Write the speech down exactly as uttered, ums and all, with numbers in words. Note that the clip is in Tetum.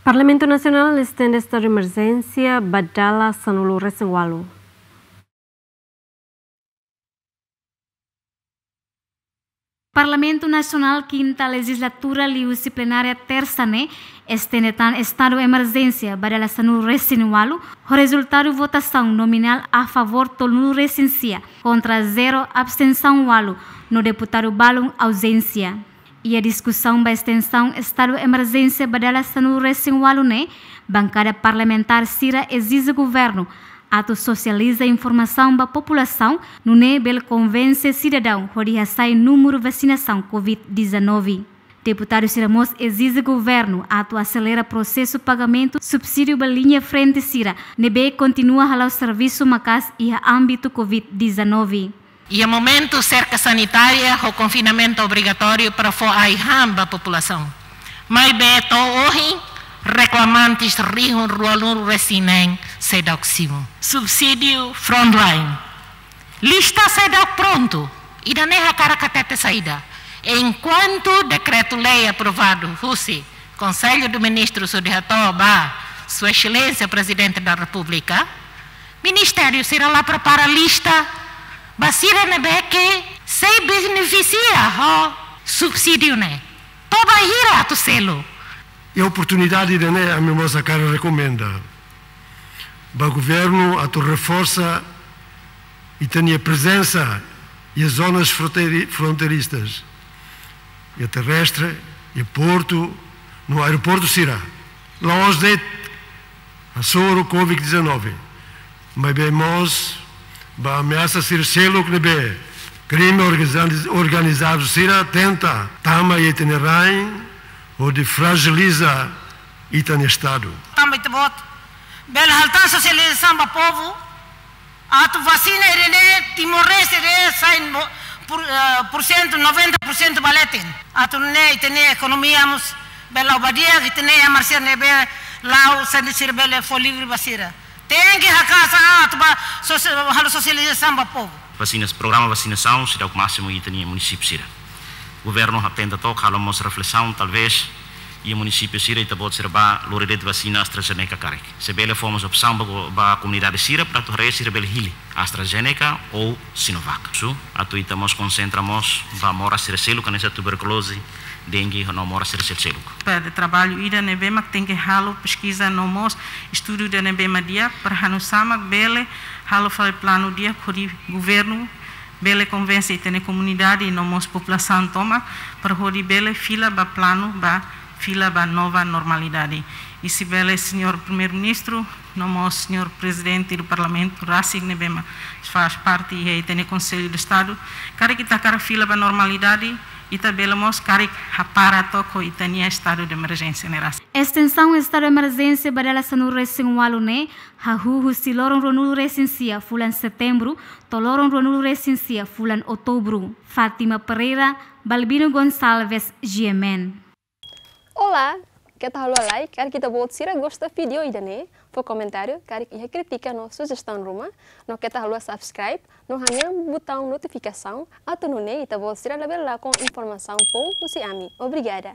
Parlamentu Nasionál estende estadu emerjénsia ba dala sanulu-resin-ualu. Parlamentu Nasionál kinta lejizlatura liuhusi plenária tersa ne'e estende tan estadu emerjénsia ba dala sanulu-resin-ualu, ho rezultadu votasaun nominál a favór tolunulu-resin-sia, kontra zero, abstensaun ualu, no deputadu balun auzénsia. Iha diskusaun ba estensaun estadu emerjénsia ba dala sanulu-resin-ualu ne'e, bankada parlamentár sira ezije governu atu sosializa informasaun ba populasaun, nune'e bele konvense sidadaun hodi hasai númeru vasinasaun covid dezanove. Deputadu sira mós ezije governu atu aselera prosesu pagamentu subsídiu ba liña frente sira ne'ebé kontinua hala'o servisu maka'as iha ámbitu covid dezanove. Iha momentu serka sanitária ho konfinamentu obrigatóriu para fó ai-han ba populasaun. Maibé to'o ohin, reklamantes rihun ruanulu-resin-neen seidauk simu. Subsídiu frontline. Lista seidauk prontu. Ida-ne'e hakarak hatete saida? Enkuantu dekretu-lei aprovadu husi Konsellu de Ministrus hodi hato'o ba Sua Exelénsia Prezidente da Repúblika, ministériu sira la prepara lista ba sira ne'ebé ke sei benefisia ho subsídiu ne'e. To'o bainhira atu selu? Iha oportunidade ida-ne'e, ami mós hakarak rekomenda ba governu atu reforsa ita-nia prezensa iha zonas fronteiru-, fronteiristas, iha terrestre, iha portu, no aeroportu sira. La'ós de'it hasoru covid dezanove, maibé mós ba ameasa sira seluk ne'ebé krime organiza-, organizadu sira tenta tama iha ita-nia rain, hodi frajiliza ita-nia estadu. Tanba ita-boot bele halo tan sosializasaun ba povu, atu vasina ida-ne'e Timor-Leste ida-ne'e sai mo-, por, eh, porsentu, noventa porsentu ba leten. Atu nune'e ita-nia ekonomia mós bele la'o ba di'ak, ita-nia iha marsir ne'ebé la'o sende sira bele fó livre ba sira. Tenke haka'as an atu ba sosi-, halo sosializasaun ba povu. Vasinas, programa vasinasaun seidauk másimu iha ita-nia munisípiu sira. Governu hatenta took halo mós reflesaun, talvés iha munisípiu sira ita-boot sira bá lori de'it vasina AstraZeneca karik. Se bele fó mós opsaun ba go-, ba komunidade sira para atu haree sira bele hili AstraZeneca ou Sinovac. Su, atu ita mós konsentra mós ba moras sira seluk, hanesan tuberkuloze, dengue, no moras sira seluk. Para traballu ida ne'ebé mak tenke halo peskiza no mós estudu ida ne'ebé mak di'ak para halo oinsá mak bele halo fali planu di'ak hodi governu bele konvense ita-nia komunidade no mós populasaun tomak para hodi bele fila ba planu ba fila ba nova normalidade. I se bele, señór Primeiru-Ministru, no mós señór Prezidente do Parlamentu rasik ne'ebé mak faz parte iha ita-nia Konsellu de Estadu, karik ita hakarak fila ba normalidade, ita bele mós karik hapara took ho ita-nia estadu de emerjénsia ne'e rasik. Estensaun estadu emerjénsia ba dala sanulu-resin-ualu ne'e hahú husi loron ruanulu-resin-sia fulan Setembru to'o loron ruanulu-resin-sia fulan Outubru. Fátima Pereira, Balbino Gonçalves, G M N. Olá, keta haluha like, karik ita-boot sira gosta vídeo ida-ne'e, fó komentáriu, karik iha krítika no sujestaun ruma, no keta haluha subscribe, no hanehan butaun notifikasaun, atu nune'e ita-boot sira labele lakon informasaun foun husi ami. Obrigada.